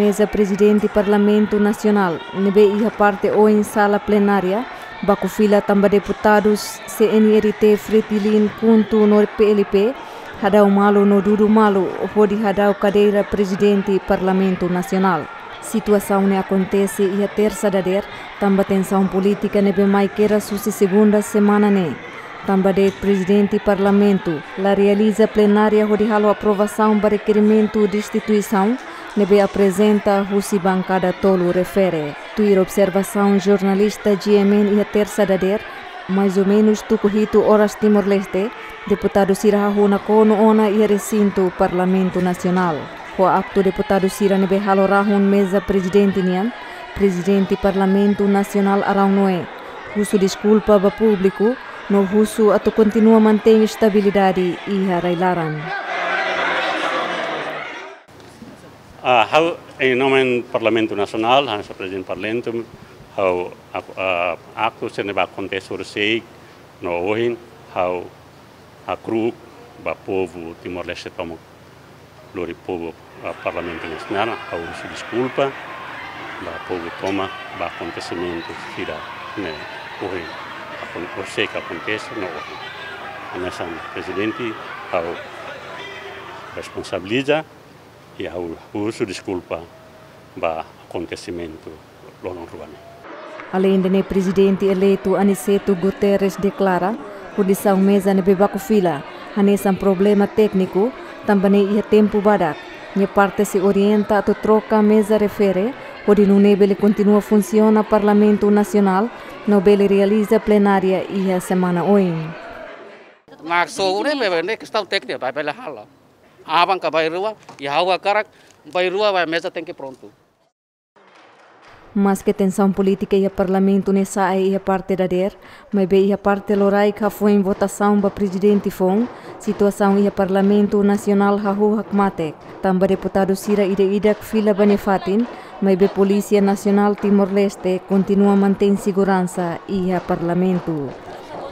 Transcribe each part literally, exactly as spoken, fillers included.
Meza Prezidente Parlamentu Nasionál ne'ebé iha parte oin sala plenária, baku fila tanba deputadus C N R T, Fretilin, KHUNTO no P L P, hadau malu no dudu malu hodi hadau kadeira Prezidente Parlamentu Nasionál. Situasaun ne'e akontese iha tersa dadeer, tanba tensaun polítika ne'ebé mai kedas husi segunda semana ne'e. Tanba de'it Prezidente Parlamentu la realiza plenária hodi halo aprovasaun ba rekerimentu destituisaun ne'ebé aprezenta husi bankada tolu refere. Tuir observasaun jornalista G M N iha tersa dadeer, mais ou menus tuku hitu oras Timor-Leste, deputadu sira hahú nakonu ona iha resintu Parlamentu Nasionál. Ho aktu deputadu sira ne'ebé halo rahun meza Prezidente nian, Prezidente Parlamentu Nasionál Araun Noé husu deskulpa ba públiku, no husu atu kontinua mantein estabilidade iha rai-laran. Ah, ha'u, em nome Parlamentu Nasionál, hanesan Prezidente Parlamentu, ha'u, aku, ah, aktu sira ne'ebé akontese horisehik no ohin, ha'u hakru'uk ba povu Timor-Leste tomak, lori povu, ah, Parlamentu Nasionál, ha'u husu deskulpa ba povu tomak ba akontesimentu sira ne'e ohin, akon-, horisehik akontese no ohin. Hanesan Prezidente, ha'u responsabiliza, i ha'u husu deskulpa ba akontesimentu loron rua ne'e. Aleinde ne'e, Prezidente eleitu Aniceto Guterres deklara kondisaun meza ne'ebé baku fila hanesan problema tékniku, tanba ne'e iha tempu badak, nia parte sei orienta atu troka meza refere, hodi nune'e bele kontinua funsiona Parlamentu Nasionál, no bele realiza plenária iha semana oin. Maksud ne'e, ne'e kestaun tékniku, ba bele halo. Aban ka bainrua, i ha'u hakarak bainrua ba meza tenke prontu. Maske tensaun polítika iha Parlamentu ne'e sa'e iha parte dadeer, maibé iha parte loraik hafoin votasaun ba Prezidente foun, situasaun iha Parlamentu Nasionál hahú hakmatek. Tanba deputadu sira ida-idak fila ba nia fatin, maibé Polísia Nasionál Timor-Leste kontinua mantein seguransa iha Parlamentu.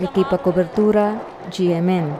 Ekipa kobertura, G M N.